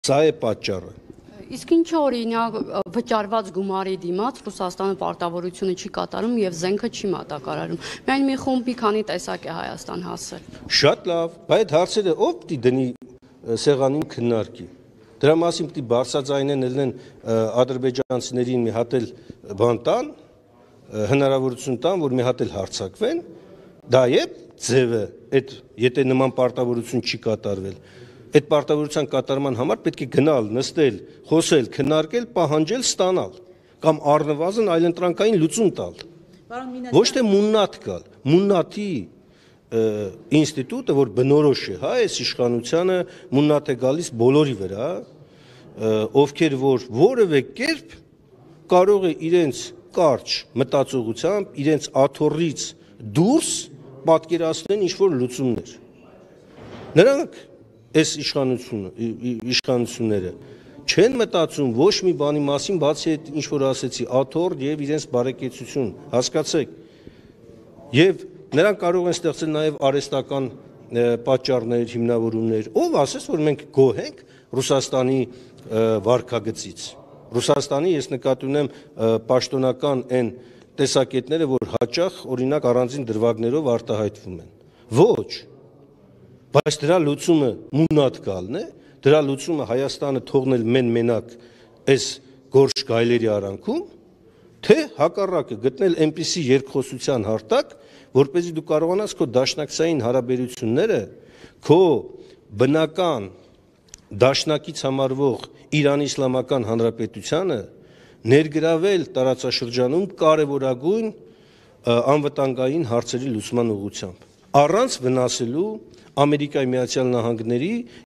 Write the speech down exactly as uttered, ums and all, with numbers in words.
Սա է պատճառը։ Իսկ ինչ օրինակ վճարված գումարի դիմաց Ռուսաստանը պարտավորությունը չի կատարում եւ զենքը չի մատակարարում։ Միայն մի խումբ մի քանի տեսակ է Հայաստան հասել։ Շատ լավ, բայց հարցերը ով պիտի դնի սեղանին քննարկի։ Դրա մասին պիտի բարձրաձայնեն ելնեն ադրբեջանցիներին մի հատ էլ բան տան, հնարավորություն տան, որ մի հատ էլ հարձակվեն, դա է ձևը, այդ եթե նման պարտավորություն չի կատարվել։ Այդ պարտավորության կատարման համար պետք է գնալ, նստել, խոսել, քննարկել, պահանջել, ստանալ կամ առնվազն այլընտրանքային լուծում տալ։ Ոչ թե մուննաթ գալ, մուննաթի ինստիտուտը, որ բնորոշ է, հա, այս իշխանությանը մուննաթ է գալիս բոլորի վրա, ովքեր որ որևէ կերպ կարող է իրենց կարճ մտածողությամբ, իրենց աթոռից դուրս պատկերացնեն ինչ-որ լուծումներ։ Նրանք այս իշխանությունները չեն մտածում ոչ մի բանի մասին, բացի այդ ինչ որ ասեցի, աթոռ եւ իրենց բարեկեցություն, հասկացեք։ Եվ նրանք կարող են ստեղծել նաեւ արհեստական պատճառներ, հիմնավորումներ։ Ով ասես, որ մենք գոհ ենք Ռուսաստանի վարքագծից։ Ռուսաստանի ես նկատի ունեմ պաշտոնական այն տեսակետները, որ հաճախ օրինակ առանձին դրվագներով արտահայտվում են։ Ոչ։ Բայց դրա լուծումը մուննաթ գալն է, դրա լուծումը Հայաստանը թողնել մեն-մենակ այս գորշ գայլերի արանքում, թե հակառակը գտնել այնպիսի երկխոսության հարթակ, որպեսզի դու կարողանաս քո դաշնակցային հարաբերությունները, քո բնական դաշնակից համարվող Իրանի Իսլամական Հանրապետությանը ներգրավել տարածաշրջանում կարևորագույն անվտանգային հարցերի լուծման ուղղությամբ, առանց վնասելու Ամերիկայի Միացյալ Նահանգների